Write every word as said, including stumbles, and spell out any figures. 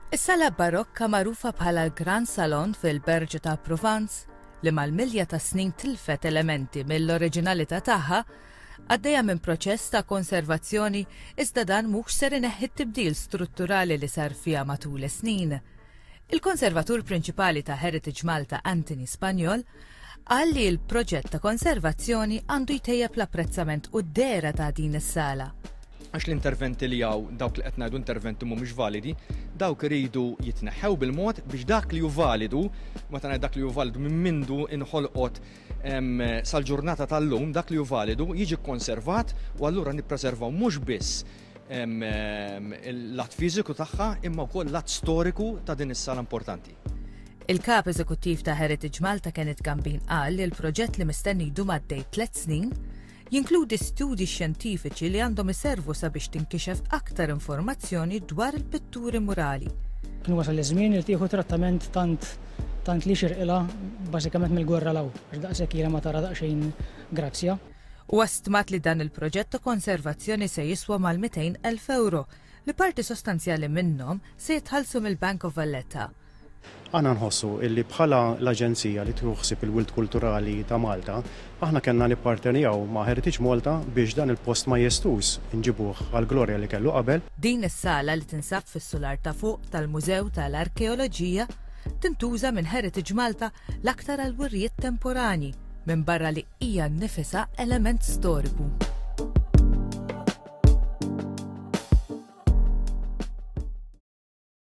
Is-sala barokka magħrufa bħala l-Gran Salon fil-Berġa ta' Provence, li mal-milja ta' snin tilfet elementi mill-oriġinalità tagħha, għaddejja minn proċess ta' konservazzjoni, iżda dan mhux ser ineħħi t-tibdil strutturali li sar fiha matul is-snin. Il-konservatur prinċipali ta' Heritage Malta, Anthony Spagnol, qal li l-proġett ta' konservazzjoni għandu jtejjeb l-apprezzament u d-dehra ta' din is-sala. Għax l-interventi li hawn, dawk li qed ngħidu interventi mhumiex validi, dawk iridu jitneħħew bil-mod biex dak li hu validu, meta ngħid dak li hu validu minn mindu inħolqot sal-ġurnata tal-lum, dak li hu validu jiġi konservat u allura nippreservaw mhux biss l-att fiżiku tagħha imma wkoll l-att storiku ta' din is-sala importanti. Il-kap eżekuttiv ta' Heritage Malta, Kenneth Gambin, qal li l-proġett, li mistenni jdum għaddej tliet snin, jinkludi studji xjentifiċi li għandhom iservu sabiex tinkixef aktar informazzjoni dwar il-pitturi murali. Kien wasal iż-żmien li tieħu trattament tant tant li jixirqilha, bażikament mill-gwerra 'l hawn, għax daqshekk ilha ma tara daqsxejn grazzja. U stmat li dan il-proġett ta' konservazzjoni se jiswa mal-mitejn elf euro, li parti sostanzjali minnhom se jitħallsu mill-Bank of Valletta. Aħna nħossu illi bħala l-Aġenzija li tħossib il-wirt kulturali ta' Malta, aħna kellna nippartenjaw ma' Heritage Malta biex dan il-post majestuż nġibuh għal-glorja li kellu qabel. Din is-sala, li tinsab fis-sular ta' fuq tal-Mużew tal-Arkeoloġija, tintuża minn Heritage Malta l-aktar għal wirjiet temporani, minn barra li hija nnifisha element storiku.